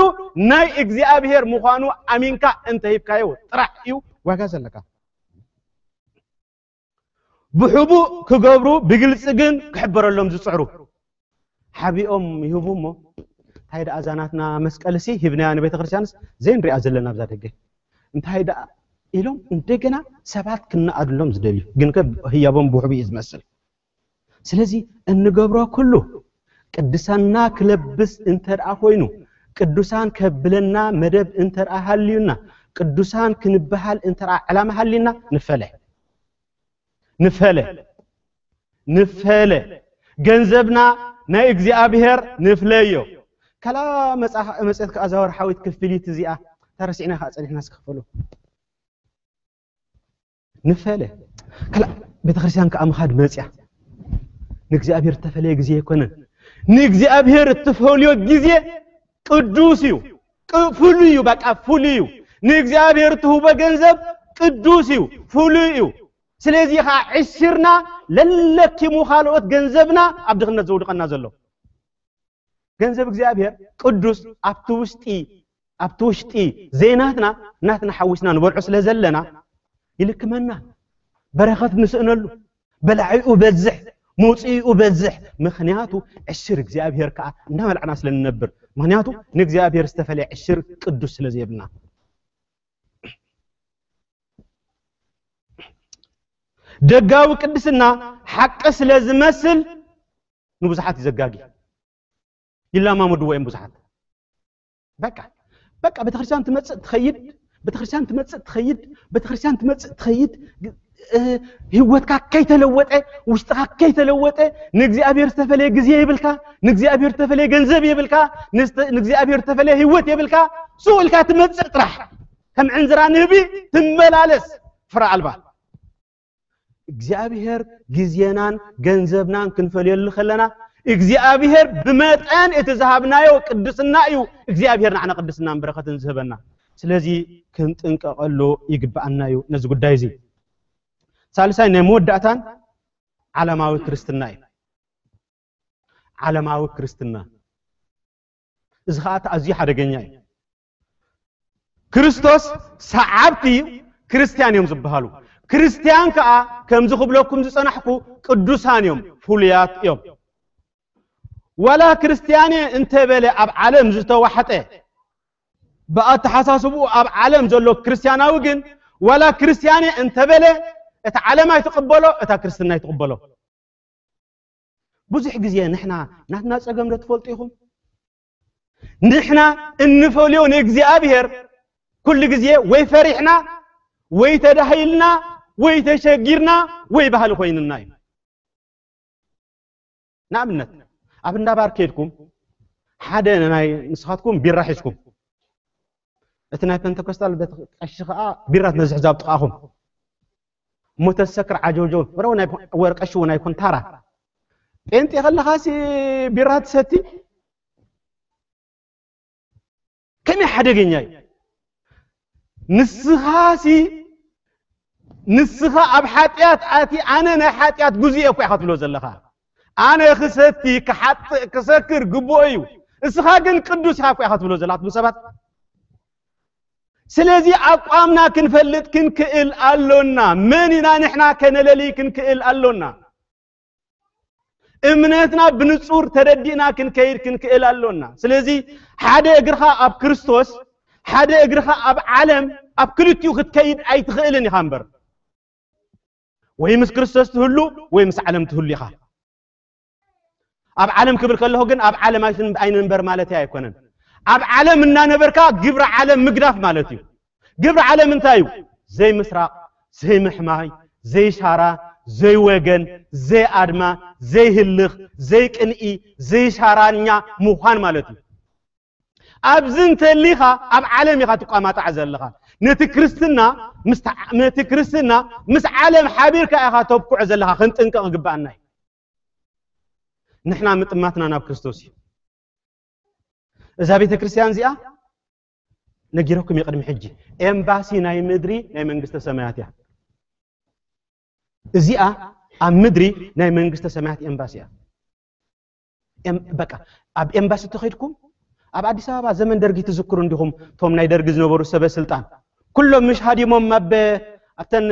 ናይ እግዚኣብሔር ምዃኑ ኣሚንካ እንተሂብካዮ ጥራሕ እዩ ዋጋ ዘለካ። ብሕቡእ ክገብሩ ብግልፂ ግን ክሕበረሎም ዝፅዕሩ ሓቢኦም ይህቡ እሞ እንታይ ደኣ እዛ ናትና መስቀልሲ ሂብናያ ንቤተ ክርስቲያንስ ዘይንሪኣ ዘለና ኣብዛ ደገ እንታይ ደኣ ኢሎም እንደገና ሰባት ክነኣድሎም ዝደልዩ ግን ከ ህያቦም ብሕቡእ እዩ ዝመስል። ስለዚ እንገብሮ ኩሉ ቅድሳና ክለብስ እንተ ደኣ ኮይኑ ቅዱሳን ከብለና መደብ እንተ ደኣ ሃልዩና ቅዱሳን ክንበሃል እንተ ደኣ ዕላማ ሃልዩና ንፈለ ንፈለ ንፈለ ገንዘብና ናይ እግዚኣብሔር ንፍለዮ። ከላ መጽ- መጽሔት ከኣ ዛወር ሓዊት ክፍሊት እዚኣ ተረሲዕና ከኣ ጸኒሕና ስክፈሉ ንፈለ ከላ ቤተክርስትያን ከኣ ምኻድ መጽያ ንእግዚኣብሔር እተፈለየ ግዜ ኣይኮነን። ንእግዚኣብሔር እትፈልዮ ግዜ ቅዱስ እዩ። ቅ- ፍሉይ እዩ። በቃ ፍሉይ እዩ። ንእግዚኣብሔር እትህቦ ገንዘብ ቅዱስ እዩ፣ ፍሉይ እዩ። ስለዚ ከዓ ዕሽርና ለለኪሙ ካልኦት ገንዘብና ኣብ ድኽነት ዘውድቐና ዘሎ ገንዘብ እግዚኣብሔር ቅዱስ ኣብቲ ውሽጢ ኣብቲ ውሽጢ ዘይናትና ናትና ሓዊስና ንበልዖ ስለ ዘለና ይልክመና። በረኸት ንስእነሉ፣ በላዒኡ በዝሕ፣ መውፅኢኡ በዝሕ። ምኽንያቱ ዕሽር እግዚኣብሔር ከዓ እንዳበላዕና ስለ ንነብር። ምኽንያቱ ንእግዚኣብሔር ዝተፈለየ ዕሽር ቅዱስ ስለ ዘየብልና። ደጋዊ ቅድስና ሓቂ ስለ ዝመስል ንብዙሓት እዩ ዘጋጊ። ይላማመድዎ እዮም ብዙሓት። በቃ በቃ ቤተክርስትያን ትመጽእ ትኸይድ፣ ቤተክርስትያን ትመጽእ ትኸይድ፣ ቤተክርስትያን ትመጽእ ትኸይድ። እ፣ ህይወትካ ከይተለወጠ፣ ውሽጥኻ ከይተለወጠ፣ ንእግዚኣብሔር ዝተፈለየ ግዜ የብልካ፣ ንእግዚኣብሔር ዝተፈለየ ገንዘብ የብልካ፣ ንስተ- ንእግዚኣብሔር ዝተፈለየ ህይወት የብልካ። ሱቕ ኢልካ ትመጽእ ጥራሕ ከም ዕንዝራ ንህቢ ትመላለስ ፍረ ኣልባ። እግዚኣብሔር ግዜናን ገንዘብናን ክንፈልየሉ ከለና እግዚኣብሔር ብመጠን እቲ ዝሃብናዮ ቅድስና እዩ እግዚኣብሔር ንዓና ቅድስናን በረኸትን ዝህበና። ስለዚ ክንጥንቀቐሉ ይግብኣና እዩ ነዚ ጉዳይ እዚ። ሳልሳይ ናይ መወዳእታን ዓለማዊ ክርስትና እዩ። ዓለማዊ ክርስትና እዚ ኸዓ ኣዝዩ ሓደገኛ እዩ። ክርስቶስ ሰዓብቲ ክርስትያን እዮም ዝበሃሉ። ክርስትያን ከዓ ከምዚ ክብለኩም ዝጸናሕኩ ቅዱሳን እዮም፣ ፍሉያት እዮም። ዋላ ክርስትያን እየ እንተበለ ኣብ ዓለም ዝተዋሕጠ ብኣተሓሳስብኡ ኣብ ዓለም ዘሎ ክርስትያናዊ ግን ዋላ ክርስትያን እየ እንተበለ እታ ዓለም ኣይትቕበሎ፣ እታ ክርስትና ኣይትቕበሎ። ብዙሕ ግዜ ንሕና ናትና ጸገም ዶ ትፈልጡ ኢኹም? ንሕና እንፈልዮ ንእግዚኣብሔር ኩሉ ግዜ ወይ ፈሪሕና ወይ ተዳሂልና ወይ ተሸጊርና ወይ ባህሊ ኮይንና እዩ። ንኣብነት ኣብ እንዳ ባር ከይድኩም ሓደ ናይ ንስኻትኩም ቢራ ሒዝኩም እቲ ናይ ፔንተኮስታል ቤት ቀሺ ከዓ ቢራ ትነዝሕ ዛብ ጥቓኹም እሞ ተሰክር ዓጀውጀው ወረው ናይ ወር ቀሺ እውን ኣይኮን ታራ ጴንጤ ከለኻሲ ቢራ ትሰቲ ከመይ ሓደገኛ እዩ። ንስኻሲ ንስኻ ኣብ ሓጢኣት ኣቲ ኣነ ናይ ሓጢኣት ጉዙእ እኮ ኢኻ ትብሎ ዘለኻ። ኣነ ክሰቲ ክሓጥእ ክሰክር ግብኦ እዩ። እስኻ ግን ቅዱስ ኢኻ እኮ ኢኻ ትብሎ ዘለኻ ትብሉ ሰባት። ስለዚ ኣቋምና ክንፈልጥ ክንክእል ኣሎና። መን ኢና ንሕና ከነለሊ ክንክእል ኣሎና። እምነትና ብንጹር ተረዲእና ክንከይድ ክንክእል ኣሎና። ስለዚ ሓደ እግርኻ ኣብ ክርስቶስ ሓደ እግርኻ ኣብ ዓለም ኣብ ክልቲኡ ክትከይድ ኣይትኽእልን ኢኻ እምበር ወይ ምስ ክርስቶስ ትህሉ ወይ ምስ ዓለም ትህሉ ኢኻ። ኣብ ዓለም ክብል ከለኹ ግን ኣብ ዓለም ኣይትን- ኣይንንበር ማለት ኣይኮነን። ኣብ ዓለም እናነበርካ ግብሪ ዓለም ምግዳፍ ማለት እዩ። ግብሪ ዓለም እንታይ እዩ? ዘይምስራቕ፣ ዘይምሕማይ፣ ዘይሻራ፣ ዘይወገን፣ ዘይኣድማ፣ ዘይህልኽ፣ ዘይቅንኢ፣ ዘይሻራኛ ምዃን ማለት እዩ። ኣብዚ እንተሊኻ ኣብ ዓለም ኢኻ ትቋማጣዕ ዘለኻ። ነቲ ክርስትና ምስ ተዓ- ነቲ ክርስትና ምስ ዓለም ሓቢርካ ኢኻ ተብኩዖ ዘለኻ፣ ክንጥንቀቕ ይግባኣና እዩ። ንሕና ምጥማትና ናብ ክርስቶስ እዩ። እዛ ቤተ ክርስቲያን እዚኣ ነጊረኩም የቅድሚ ሕጂ ኤምባሲ ናይ ምድሪ ናይ መንግስተ ሰማያት እያ። እዚኣ ኣብ ምድሪ ናይ መንግስተ ሰማያት ኤምባሲ እያ። ኤም- በቃ ኣብ ኤምባሲ ተኸይድኩም ኣብ ኣዲስ ኣበባ ዘመን ደርጊ ትዝክሩ እንዲኹም፣ እቶም ናይ ደርጊ ዝነበሩ ሰበ ስልጣን ኩሎም ምሽ ሃዲሞም ኣብ ኣብተን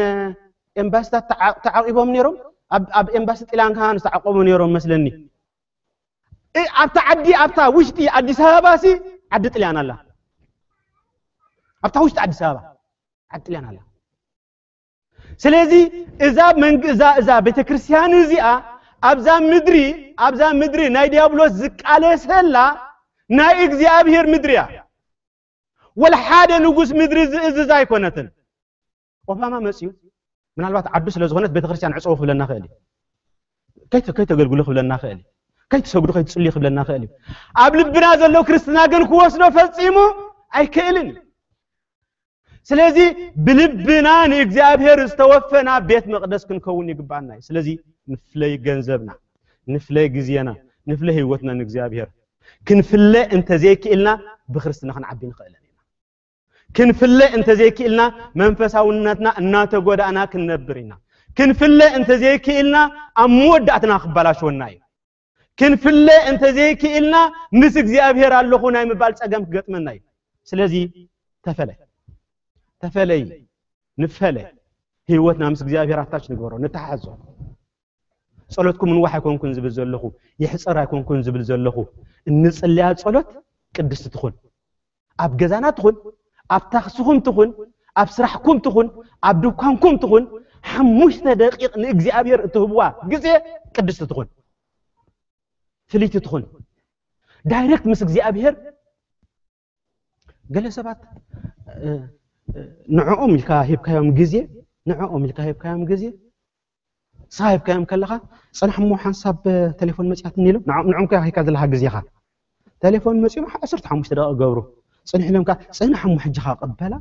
ኤምባሲታት ተዓ- ተዓቂቦም ነይሮም። ኣብ ኣብ ኤምባሲ ጥልያን ከኣ ዝተዓቆቡ ነይሮም መስለኒ። እ- ኣብታ ዓዲ ኣብታ ውሽጢ ኣዲስ ኣበባ ሲ ዓዲ ጥልያን ኣላ። ኣብታ ውሽጢ ኣዲስ ኣበባ ዓዲ ጥልያን ኣላ። ስለዚ እዛ መንግ እዛ እዛ ቤተክርስትያን እዚኣ ኣብዛ ምድሪ ኣብዛ ምድሪ ናይ ዲያብሎስ ዝቃለሰላ ናይ እግዚኣብሔር ምድሪ እያ። ወላ ሓደ ንጉስ ምድሪ ዝእዝዝ ኣይኮነትን። ኦባማ መፅዩ ምናልባት ዓዱ ስለ ዝኾነት ቤተክርስትያን ዕፀው ክብለና ክእል እዩ። ከይተ- ከይተገልግሉ ክብለና ክእል እዩ። ከይትሰግዱ ከይትፅልዩ ክብለና ክእል እዩ። ኣብ ልብና ዘሎ ክርስትና ግን ክወስዶ ፈፂሙ ኣይክእልን እዩ። ስለዚ ብልብና ንእግዚኣብሔር ዝተወፈና ቤት መቅደስ ክንከውን ይግባና እዩ። ስለዚ ንፍለይ ገንዘብና፣ ንፍለይ ግዜና፣ ንፍለይ ህይወትና ንእግዚኣብሔር። ክንፍለ እንተዘይክእልና ብክርስትና ክንዓቢ ንኽእለን ኢና። ክንፍለ እንተዘይክእልና መንፈሳውነትና እናተጎዳእና ክንነብር ኢና። ክንፍለ እንተዘይክእልና ኣብ መወዳእትና ክበላሸወና እዩ። ክንፍለ እንተዘይክእልና ምስ እግዚኣብሔር ኣለኹ ናይ ምባል ጸገም ክገጥመና እዩ። ስለዚ ተፈለ ተፈለይ ንፈለ ህይወትና ምስ እግዚኣብሔር ኣታች ንግበሮ፣ ንተሓሓዞ። ጸሎትኩም ንዋሕ ኣይኮንኩን ዝብል ዘለኹ፣ ይሕጸር ኣይኮንኩን ዝብል ዘለኹ። እንጽልያ ጸሎት ቅድስቲ ትኹን። ኣብ ገዛና ትኹን፣ ኣብ ታክስኹም ትኹን፣ ኣብ ስራሕኩም ትኹን፣ ኣብ ድኳንኩም ትኹን፣ ሓሙሽተ ደቂቕ ንእግዚኣብሔር እትህብዋ ግዜ ቅድስቲ ትኹን፣ ፍልይቲ ትኹን። ዳይሬክት ምስ እግዚኣብሔር ገለ ሰባት ንዕኦም ኢልካ ሂብካዮም ግዜ ንዕኦም ኢልካ ሂብካዮም ግዜ ንስኻ ሂብካዮም ከለኻ ጽናሕ እሞ ሓንሳብ ቴሌፎን መጽያትኒ ኢሎም ንዕኦም ንዕኦም ከ ሂካ ዘለኻ ግዜኻ ቴሌፎን መጽዮም ዓሰርተ ሓሙሽተ ደቂቕ ገብሩ ጽንሕ ኢሎም ከ ጽናሕ እሞ ሕጂ ኻ ቅበላ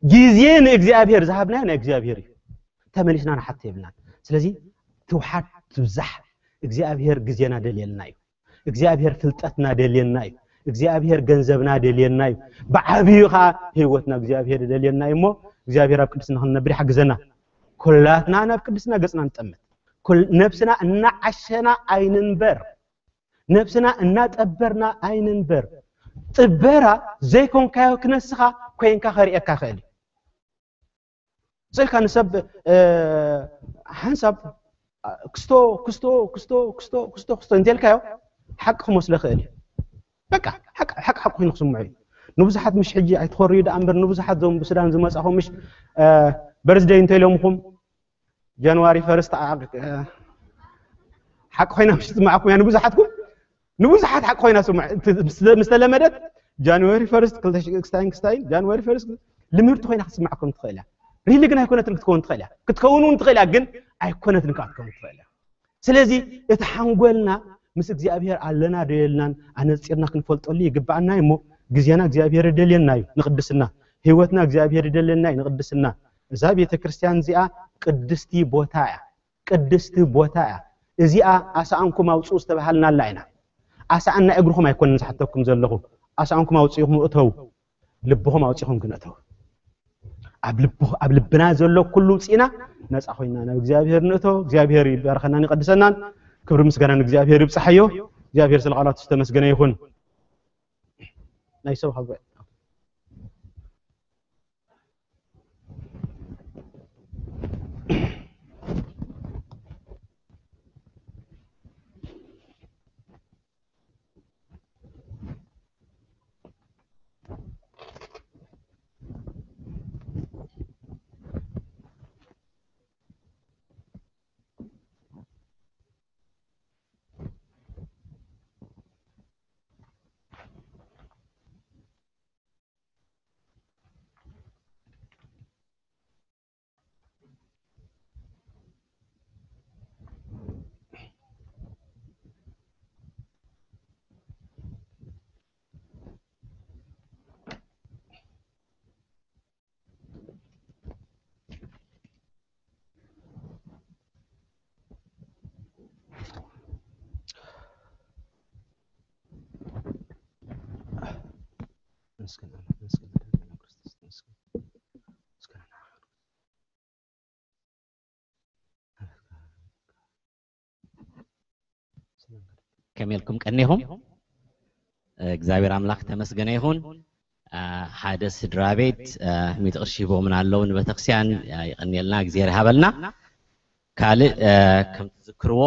ግዜ ንእግዚኣብሔር ዝሃብናዮ ናይ እግዚኣብሔር እዩ። ተመሊስና ንሓቶ የብልናን። ስለዚ ትውሓድ ትብዛሕ እግዚኣብሔር ግዜና ደልየልና እዩ። እግዚኣብሔር ፍልጠትና ደልየና እዩ። እግዚኣብሔር ገንዘብና ደልየና እዩ። ብዓብዩ ከዓ ህይወትና እግዚኣብሔር ደልየና እዩ እሞ እግዚኣብሔር ኣብ ቅድስና ክንነብር ይሓግዘና። ኩላትና ናብ ቅድስና ገጽና ንጠምት። ኩል- ነብስና እናዓሸና ኣይንንበር። ነብስና እናጠበርና ኣይንንበር። ጥበራ ዘይኮንካዮ ክነስኻ ኮይንካ ከርእየካ ክእል እዩ። ስልካ ንሰብ ሓንሳብ ክስቶ ክስቶ ክስቶ ክስቶ ክስቶ ክስቶ እንተልካዮ ሓቂ ክመስሎ ክእል እዩ። በቃ ሓቂ ሓቂ ሓቂ ኮይኑ ክስምዖ እዩ። ንብዙሓት ምሽ ሕጂ ኣይትኸርዩ ደኣ እምበር ንብዙሓት ዞም ብሱዳን ዝመጻኹም ምሽ በርዝደይ እንተኢሎምኹም ጃንዋሪ ፈርስት ሓቂ ኮይና ምሽ ትስምዓኩም እያ ንብዙሓትኩም ንብዙሓት ሓቂ ኮይና ስምዕ ምስ ተለመደት ጃንዋሪ ፈርስት ክስታይን ክስታይን ጃንዋሪ ፈርስት ልምህርቲ ኮይና ክትስምዓኩም ትኽእል እያ። ሪሊ ግን ኣይኮነትን ክትከውን ትኽእል እያ። ክትከውን እውን ትኽእል እያ ግን ኣይኮነትን ከዓ ክትከውን ትኽእል እያ። ስለዚ እቲ ሓንጎልና ምስ እግዚኣብሔር ኣለና ዶ የልናን ኣነፂርና ክንፈልጠሉ ይግባኣና እዩ እሞ ግዜና እግዚኣብሔር ይደልየና እዩ ንቅድስና። ህይወትና እግዚኣብሔር ይደልየና እዩ ንቅድስና። እዛ ቤተ ክርስቲያን እዚኣ ቅድስቲ ቦታ እያ። ቅድስቲ ቦታ እያ። እዚኣ ኣሳኣንኩም ኣውፅኡ ዝተባሃልናላ ኢና። ኣሳኣን ናይ እግርኹም ኣይኮነን ዝሓተኩም ዘለኹ። ኣሳኣንኩም ኣውፅኢኹም እተው። ልብኹም ኣውፂኹም ግን እተው። ኣብ ልብ ኣብ ልብና ዘሎ ኩሉ ውፅኢና ነፃ ኮይና ናብ እግዚኣብሔር ንእቶ። እግዚኣብሔር ይባርኸናን ይቀድሰናን። ክብሪ ምስጋና ንእግዚኣብሔር ይብፅሓዮ። እግዚኣብሔር ስለ ቃላቱ ዝተመስገነ ይኹን። ናይ ሰብ ሃገር ተመስገን ኣምላኽ፣ ተመስገን መድኃኔዓለም ክርስቶስ፣ ተመስገን። ተመስገን ኣምላኽ። ከመይ ኢልኩም ቀኒኹም? እግዚኣብሔር ኣምላኽ ተመስገነ ይኹን። አ፣ ሓደ ስድራ ቤት፣ አ፣ ሚእቲ ቅርሺ ሂቦምና ኣለዉ ንቤተክርስቲያን፣ አ፣ ይቐንየልና፣ እግዚኣብሔር ይሃበልና። ካልእ፣ አ፣ ከም ትዝክርዎ፣